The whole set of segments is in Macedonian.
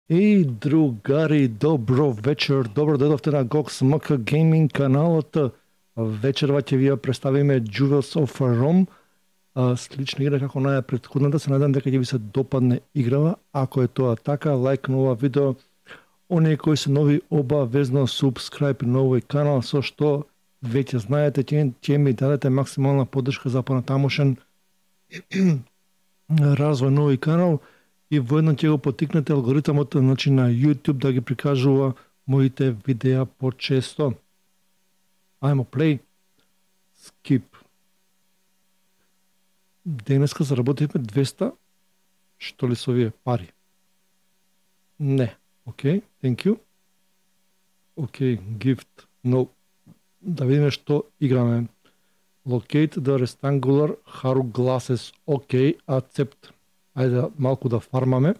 Еј, другари, добро вечер, добро дојдовте на Gox MK Gaming каналот. Вечерва ќе ви ја представиме Jewels of Rome, слична игра како на претходната. Се надам дека ќе ви се допадне играва. Ако е тоа така, лайк на ова видео. Оние кои се нови, обавезно субскрайб на овој канал, со што веќе знаете ќе ми дадете максимална поддршка за понатамошен развој на овој канал. И воедно ќе го потикнете алгоритмот на YouTube да ги прикажува моите видеа почесто. Ајмо play, skip. Денеска заработивме 200, што ли со овие пари? Не, окей, thank you. Окей, gift, no. Да видиме што играме. Locate the rectangular haru glasses, окей, accept. Ајде малку да фармаме.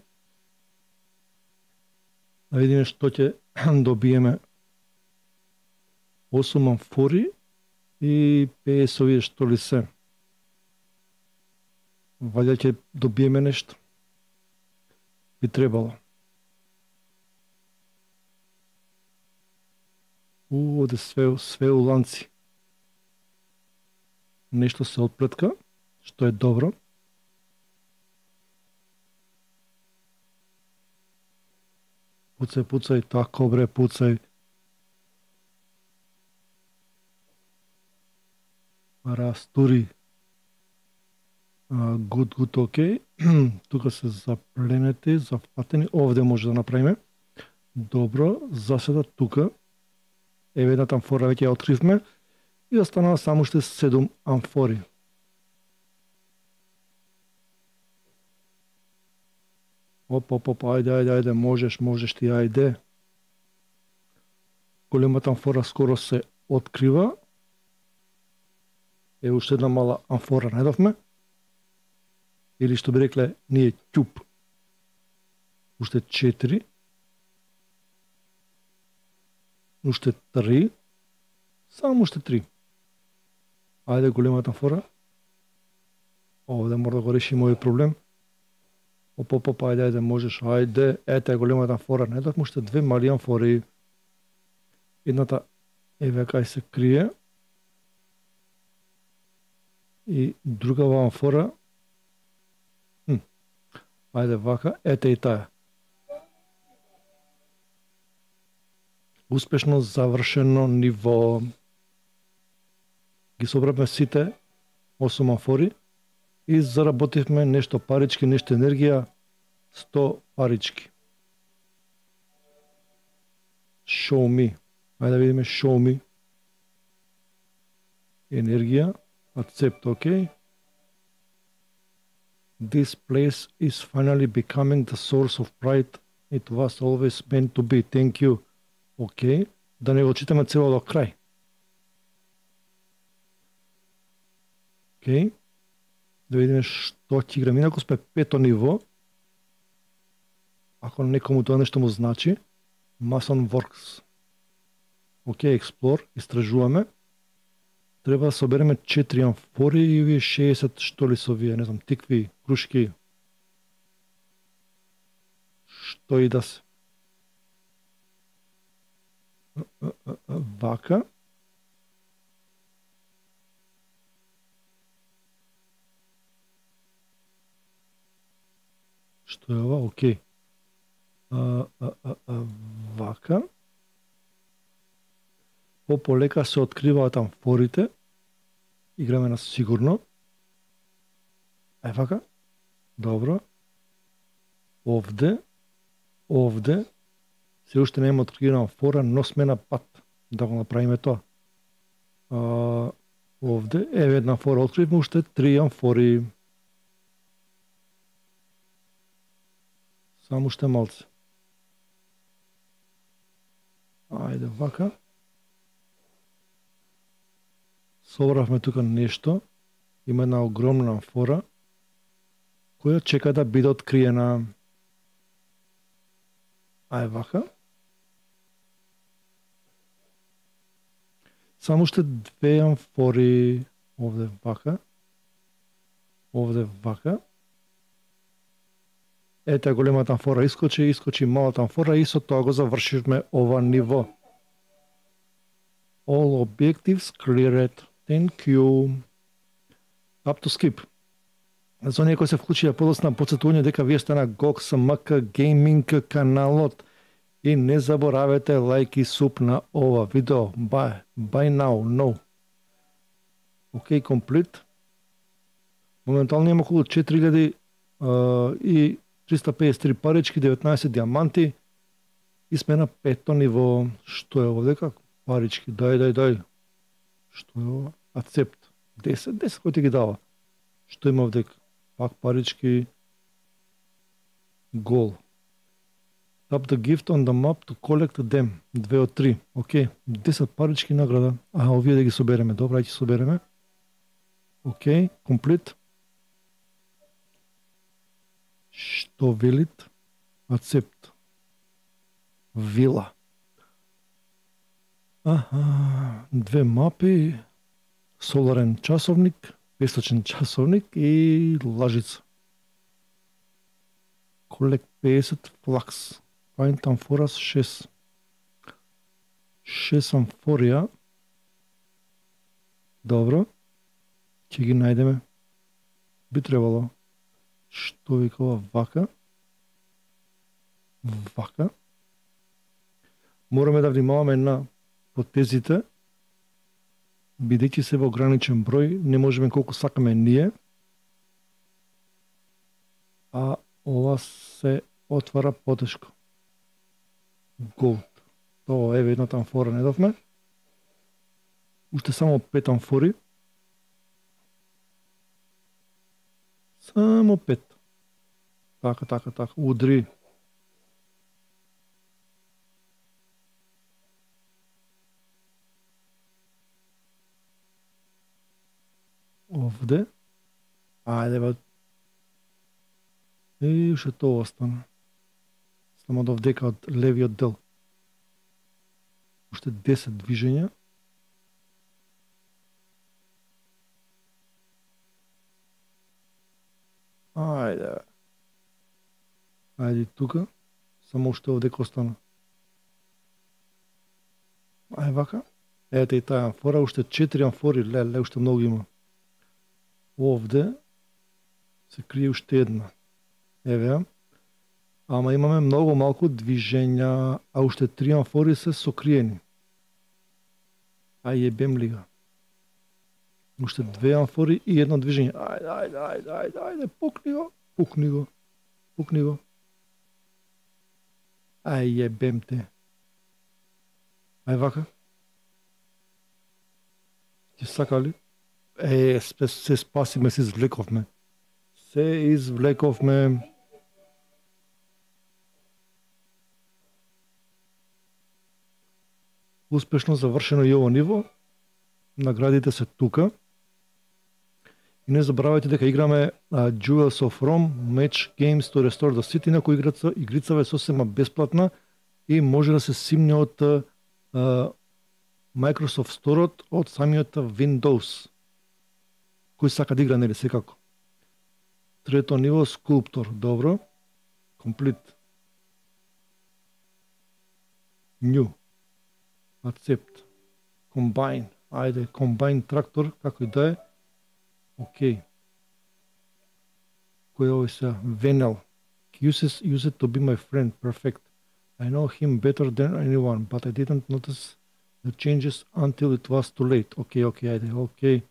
Да видиме што ќе добиеме. 8 амфори и 50 овие што ли се. Ваljda ќе добиеме нешто. Би требало. Оде све у ланци. Нешто се отплетка, што е добро. Пуцај, тако бре, пуцај. Растури. Good, окей. Тука се запленети, зафатени. Овде може да направиме. Добро, за сега тука. Еве едната амфора веќе ја откривме. И останаа само уште 7 амфори. Оп, ајде, можеш ти, ајде. Големата амфора скоро се открива. Е, уште една мала амфора најдовме. Или што би рекле, ние ќуп. Уште 4. Уште 3. Само уште 3. Ајде, големата амфора. Овде мора да го решиме овој проблем. Оп, ајде, можеш, ајде, ете големата амфора, не дадме уште 2 мали амфори. Едната еве кај се крие. И другава амфора. Ајде вака, ете и таа. Успешно завршено ниво. Ги собравме сите 8 амфори. И заработивме нешто парички, нешто енергија, 100 парички. Show me. Ајде да видиме show me. Енергија, accept, окей. This place is finally becoming the source of pride. It was always meant to be. Thank you. Окей. Да не го читаме цело до крај. Окей. Да видиме што ќе играме. Инаку сме 5-то ниво. Ако некому тоа нешто му значи. Mason Works. Окей, Explore. Истражуваме. Треба да собереме 4 амфори и овие 60 што ли со овие, не знам, тикви, крушки. Што и да се. Вака. Што е ова? Окей. Вака. Пополека се откриваат амфорите. Играме на сигурно. Вака. Добро. Овде. Се уште нема откривена амфора, но сме на пат да го направиме тоа. Овде. Еве една амфора откривме, уште 3 амфори. Само уште малце. Ајде вака. Собравме тука нешто. Има една огромна амфора која чека да биде откриена. Ајде вака. Само уште 2 амфори. Овде вака. Ете големата амфора искочи малата амфора и со тоа го завршивме ова ниво. All objectives cleared. Thank you. Up to skip. За оние кои се вклучија подоцна, подсетување дека вие сте на GOXMK Gaming каналот и не заборавете лайк и суп на ова видео. Buy now, no. Океј, комплит. Моментално има околу 4000 и 353 парички, 19 диаманти и сме на 5-то ниво. Што е овдека? Парички, дај. Што е ова? Accept. 10 кој ти ги дава. Што има овдека? Пак парички. Гол. Tap the gift on the map to collect them. 2 од 3. Океј. 10 парички награда. Овие да ги собереме. Добра, ќе собереме. Океј. Комплит. Што велит? Accept. Вила. Две мапи. Соларен часовник. Песочен часовник и лажица. Collect 50 флакс. Find амфорас 6. 6 амфорија. Добро. Ќе ги најдеме. Би требало. Што викава вака? Вака. Мораме да внимаваме на потезите, бидејќи се во ограничен број, не можеме колку сакаме ние. А ова се отвара потешко. Голд. Тоа еве едната амфора не довме. Уште само 5 амфори. Само 5. Така. Удри. Овде. Ајде бе. И уште тоа остана. Само до вдека од левиот дел. Уште 10 движења. Ајде. Ајде тука. Само уште овдека остана. Ајде вака. Ете и таа амфора. Уште 4 амфори. Леле, уште многу има. Овде се крие уште една. Еве. Ама имаме многу малку движења, а уште 3 амфори се сокриени. Јебем ли га. Уште 2 амфори и едно движење. Ајде, пукни го. Јебем те. Ај вака. Ти сакали? Се спасиме, се извлековме. Успешно завршено и ово ниво. Наградите се тука. И не забравајте дека играме Jewels of Rome, Match Games to Restore the City, на кој игрицава е сосема бесплатна и може да се симне од Microsoft Store од самиот Windows. Кој сака да игра, нели, секако. Трето ниво, скулптор. Добро. Комплит. New. Accept. Combine. Ајде, combine трактор, како и да е. Океј. Кој е овој сега? Venel. Use it to be my friend. Perfect. I know him better than anyone, but I didn't notice the changes until it was too late. Океј, ајде, океј.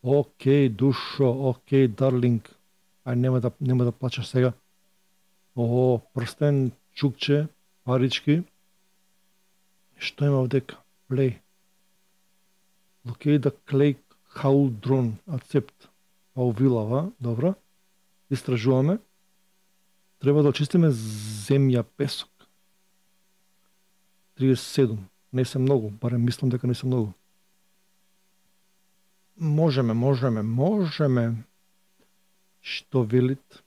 Океј, душо, океј, дарлинг. Нема да плачеш сега. Прстен, чукче, парички. Што има овдека? Play. Locate the clay cauldron. Accept. Паувилава, добро. Истражуваме. Треба да очистиме земја, песок. 37. Не се многу, барем мислам дека не се многу. Можеме. Што велит?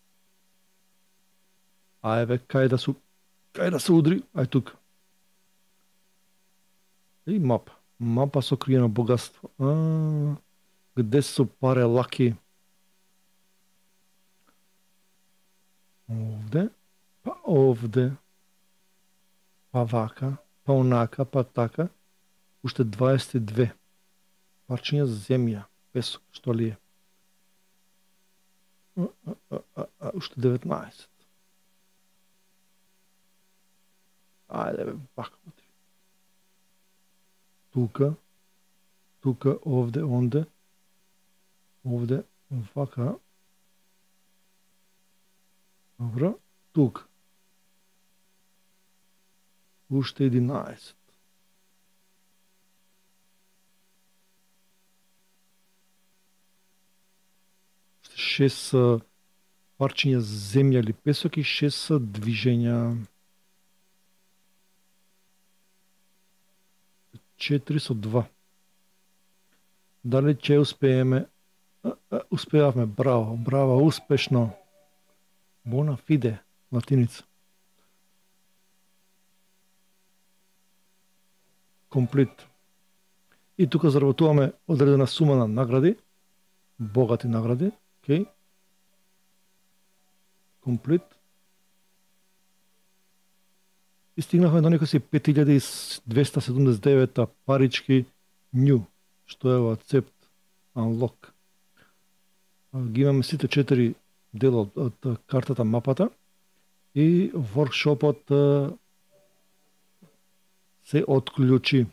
Ајде, кај да се удри? Ај тука. И мапа со криено богатство. Где су паре лаки? овде, па овде, па вака, па онака, па така, уште 22 парчиња земја, песок, што ли е? Уште 19. Ајде бе, вака. Тука, овде, онде, овде, вака. Добро, тука. Уште 11. Уште 6 парчиња земја или песок и 6 движења. 4 со 2. Дали ќе успееме? Успеавме, браво, браво, успешно. Bona fide, латиница. Комплит. И тука заработуваме одредена сума на награди, богати награди, окей. Комплит. И стигнахме до некои 5279 парички new, што е во accept, unlock. Ги имаме сите 4 дела од картата, мапата, и воркшопот се отклучи,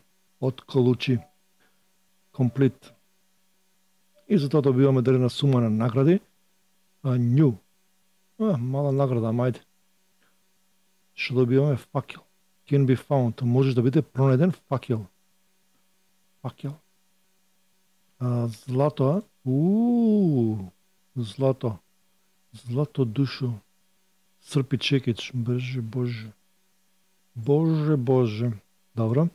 комплит. И затоа добиваме одредена сума на награди, new. Мала награда, мајде. Што добиваме? Факел. Can be found. Можеш да биде пронеден факел. Факел. Злато, злато. Злато душо. Српи чекич. Боже, Боже. Боже, Боже. Добро.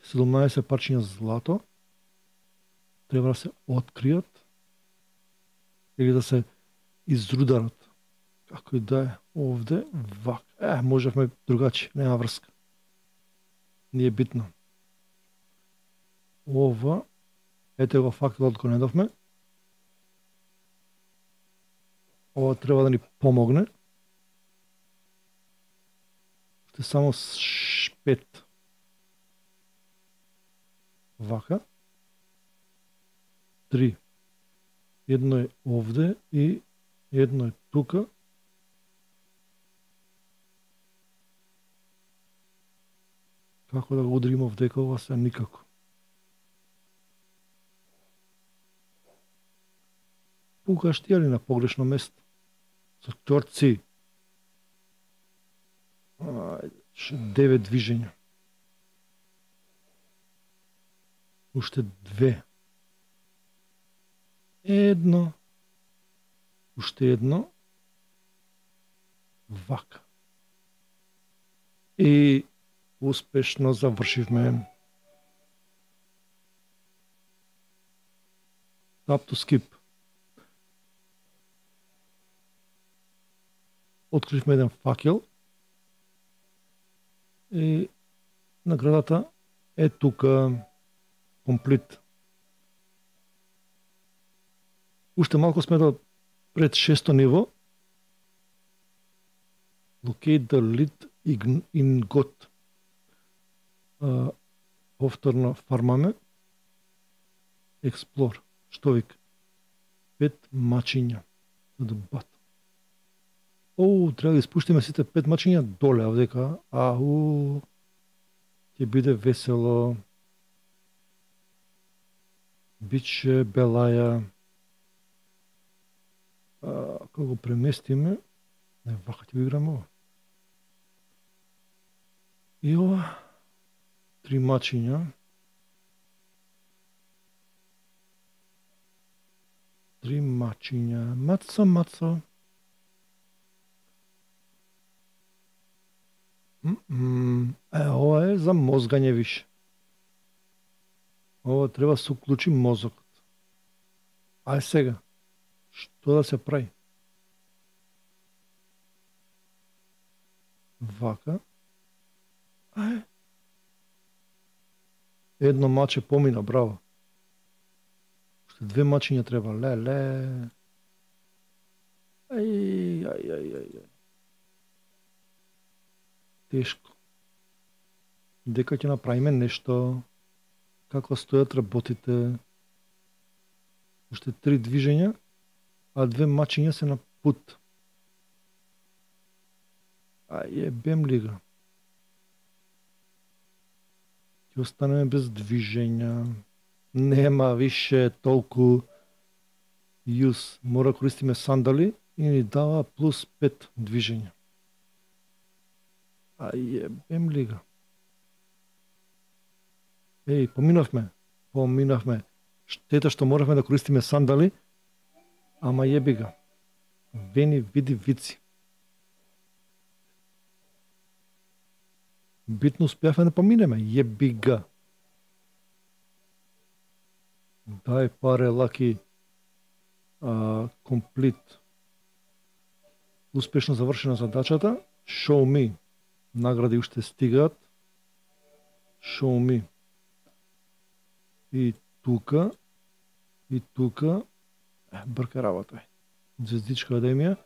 17 парчиња злато. Треба да се откријат или да се изрударат. Како и да е, овде, вак. Можевме другачи, нема врска. Не е битно. Ова, ете го факелот го недовме. Ова треба да ни помогне. Уште само 5. Вака. 3. Едно е овде и едно е тука. Како да го удрим овдека, ова се никако. Пукаш ти али на погрешно место? Со ќорци. 9 движења. Уште 2. Едно. Уште едно. Вака. И успешно завршивме. Tap to skip. Откривме еден факел. И наградата е тука. Комплит. Уште малку сме до пред 6-то ниво. Locate the lead in God. Повторно фармаме. Explore. Што вика? 5 мачиња. Треба да испуштиме сите 5 мачиња доле овдека. Ќе биде весело. Биче белаја. Кога го преместиме, вака ќе го играме ова. И ова 3 мачиња. 3 мачиња. Маца. Ова е за мозгање више. Ова треба да се уклучи мозокот. Ај сега. Што да се прави? Вака. Едно маче помина, браво. Уште 2 мачиња треба. Ле. Ај. Тешко. Дека ќе направиме нешто, како стојат работите. Уште 3 движења, а 2 мачиња се на пут. Бем ли го? Ќе останеме без движења. Нема више толку јус. Мора користиме сандали и ни дава плюс 5 движења. Бем ли го? Поминавме. Штета што моравме да користиме сандали, ама јеби га. Вени види вици. Битно успеавме да поминеме, јеби га. Дај паре, лаки. Комплит. Успешно завршена задачата. Show me. Награди уште стигаат. Show me. И тука. Брка работа. Звездичка академија.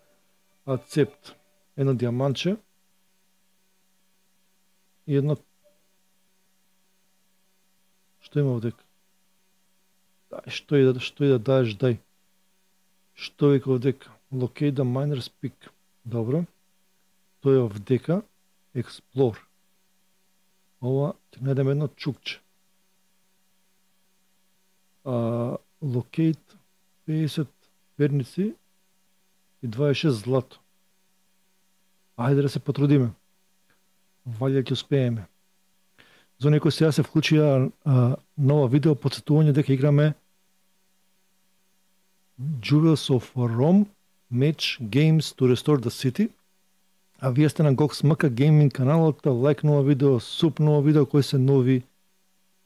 Ацепт. Едно диамантче. И едно... Што има овдека? Што и да даеш, дај. Што вика овдека? Locate the miner's peak. Добро. Тој е овдека. Explore. Ова, ќе најдеме едно чукче. Locate 50 перници и 26 злато. Ајде да се потрудиме. Валја ќе успееме. За некој сега се вклучија нова видео подсетување дека играме Jewels of Rome Match Games to Restore the City. А вие сте на GOXMK Gaming каналот, лајкнува видео, супнува видео кои се нови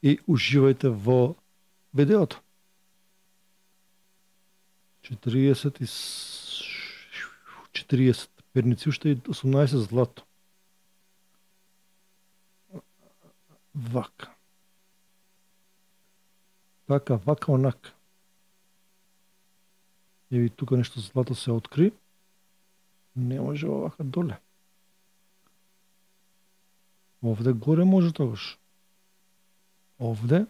и уживајте во видеото. 40 перници уште и 18 злато. Вака. Така, вака, онака. Еви тука нешто злато се откри. Не може овака доле. Овде горе може тогаш. Овде.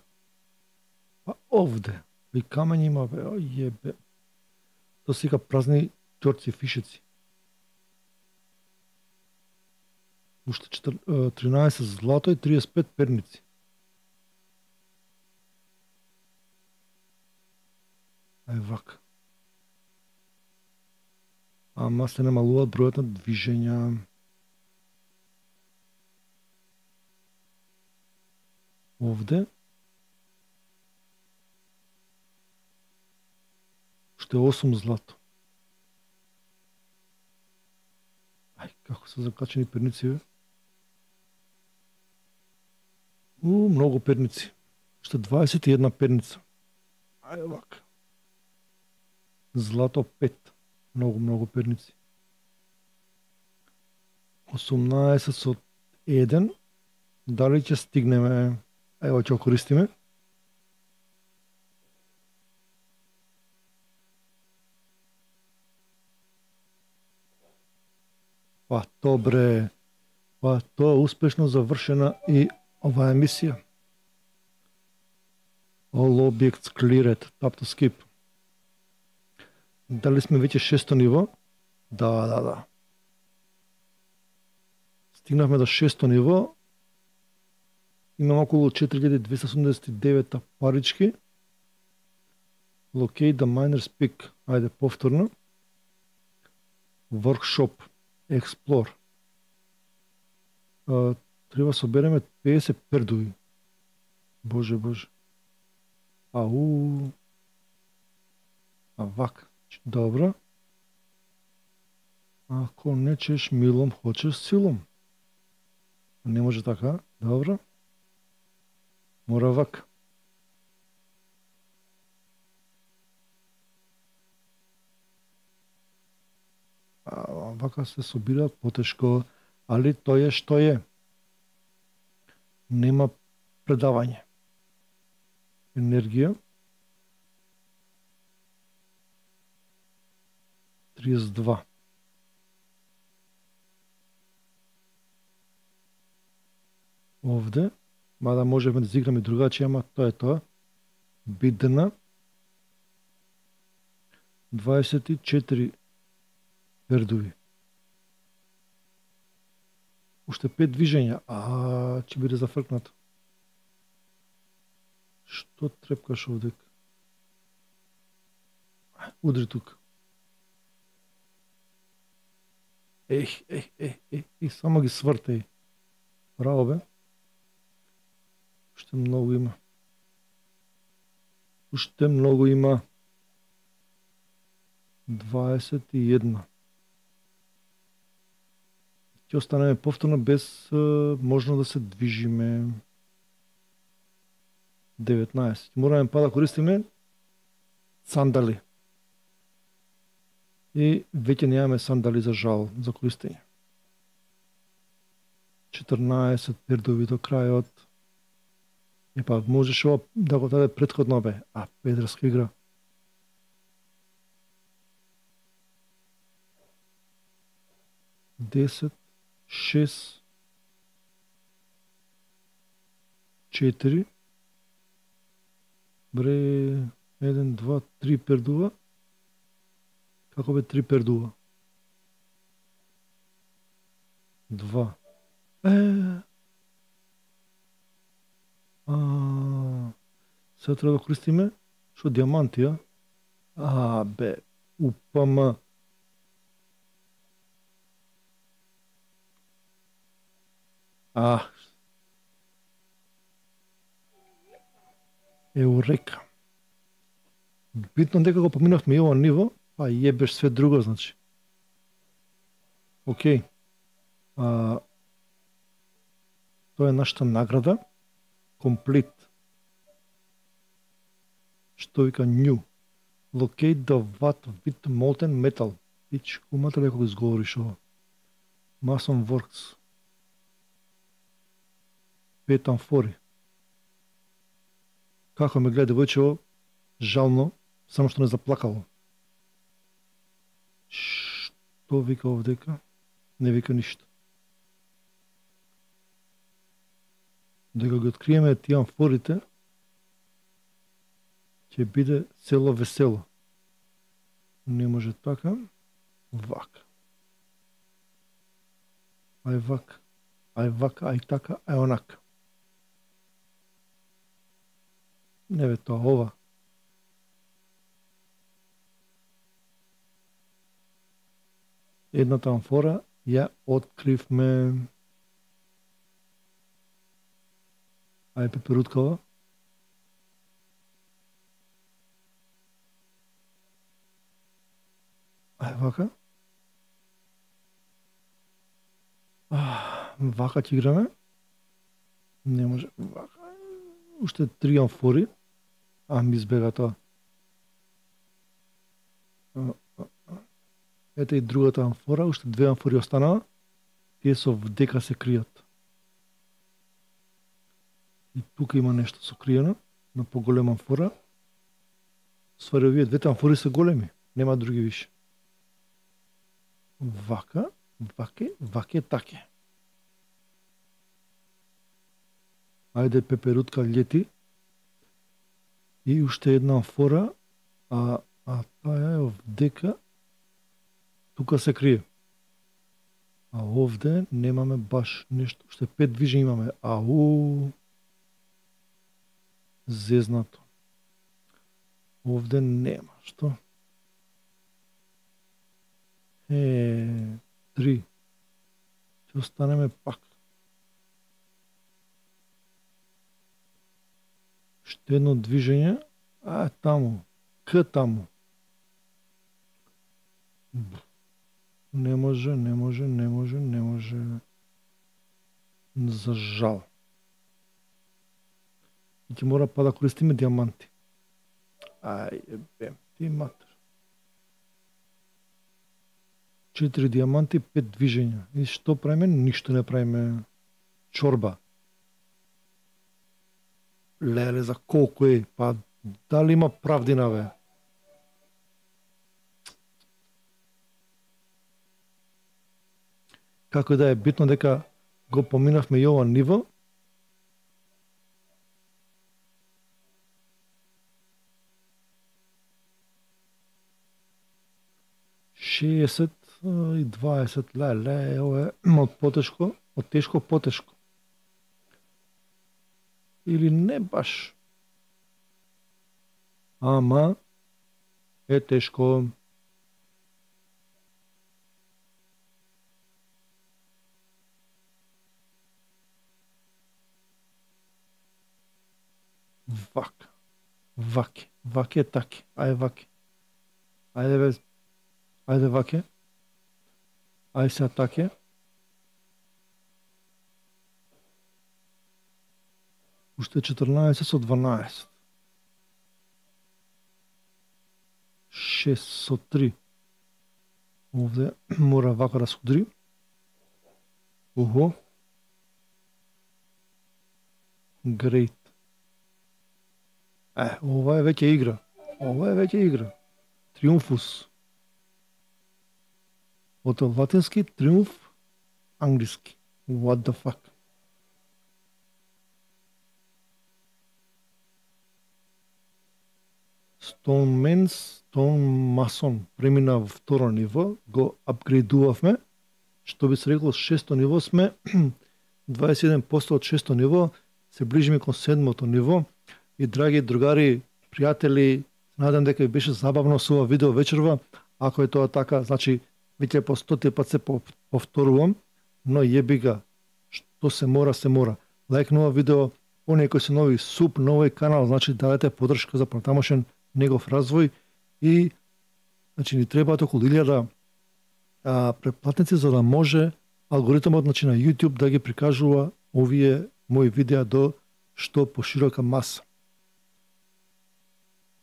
Па овде. И камења има, бе, јебе. То сика празни ќорци, фишеци. Уште 13 злато и 35 перници. Вака. Ама се намалуваат бројот на движења. Овде. Уште 8 злато. Како се закачени перници, бе? Многу перници. Уште 21 перница. Вака. Злато 5. Многу перници. 18 со 1. Дали ќе стигнеме? Ево ќе користиме. Па добре. Па тоа е успешно завршена и оваа емисија. All objects cleared. Tap to skip. Дали сме веќе 6-то ниво? Да. Стигнавме до 6-то ниво. Имам околу 4279 парички. Locate the miner's peak. Ајде повторно. Workshop. Explore. Треба собереме 50 пердуи. Боже. Вака. Добро. Ако не чеш милом, хочеш силом. Не може така. Добро. Мора вака. Вака се собираат потешко, али тоа е што е. Нема предавање. Енергија. 32. овде, мада можеме да зиграме другачи, ама тоа е тоа. Бидна 24 пердуви. Уште 5 движења. Ќе биде зафркнато. Што трепкаш овдека? Удри тука. Само ги свртеј. Браво бе. Уште многу има. Уште многу има. 21. Ќе останеме повторно без можно да се движиме. 19. Мораме па да користиме сандали. И веќе немаме сандали за жал, за користење. 14 пердови до крајот. Епа, можеш ова да го даде претходно бе. Педерска игра. Десет, 6, 4, бре, 1, 2, 3 пердува. Како бе 3 пердува? 2. Сега треба да користиме што диаманти, бе, упама. Еурека. Битно дека го поминавме и ова ниво, јебеш све друго, значи. Океј. Тоа е нашата награда. Complete. Што вика new. Locate the vat with molten metal. Пич, кумата леко го изговориш ова. Mason Works. 5 амфори. Како ме гледа девојчево, жално, само што не заплакало. Што вика овдека? Не вика ништо. Дека ги откриеме тие амфорите, ќе биде цело весело. Не може така. Вака. Ај вака. Ај вака, ај така, ај онака. Не бе тоа, ова. Едната амфора ја откривме. Ај пеперуткава. Ај вака. Вака ќе играме. Не може. Вака. Уште 3 амфори. Ми избега тоа. Ете и другата амфора. Уште 2 амфори останаа. Тие со вдека се кријат. И тука има нешто сокриено. На поголема амфора. Ствари, овие двете амфори се големи. Нема други више. Вака. Ваке. Ваке таке. Ајде пеперутка лети. И уште една амфора, таа е овдека, тука се крие. Овде немаме баш нешто, уште 5 движења имаме. Зезнато. Овде нема, што? 3. Ќе останеме пак. Уште едно движење, таму, таму. Не може. За жал. И ќе мора па да користиме диаманти. Бем, ти матер. 4 диаманти, 5 движења. И што правиме? Ништо не правиме. Чорба. Леле, за колку е? Па, дали има правдина, бе? Како да е битно дека го поминавме и ова ниво, 60 и 20, леле, ова е од потешко, од тешко потешко. Или не баш. Ама е тешко. Вака. Ваке. Ваке таки. Ајде ваке. Ајде бе. Ајде ваке. Ајде сега таке. Уште 14 со 12. 6 со 3. Овде мора вака да се удри. Охо. Great. Ова е веќе игра. Ова е веќе игра. Триумфус. Од латински триумф, англиски. What the fuck? Stone премина во второ ниво, го апгрейдувавме, што би се рекло шесто ниво сме, 21% од шесто ниво, се ближиме кон седмото ниво. И драги другари, пријатели, надам дека ви беше забавно со ова видео вечерва. Ако е тоа така, значи веќе по 100 пат се повторувам, но јеби ga, што се мора, се мора. Лајк на ова видео, оние кои се нови, суп на овој канал, значи дадете поддршка за понатамошен негов развој и значи ни требаат околу 1000 претплатници за да може алгоритмот значи на YouTube да ги прикажува овие мои видеа до што поширока маса.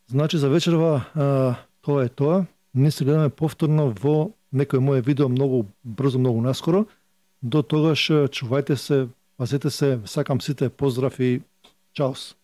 Значи за вечерва тоа е тоа. Ние се гледаме повторно во некој моје видео многу брзо, многу наскоро. До тогаш чувајте се, пазете се, сакам сите поздрав и чаус.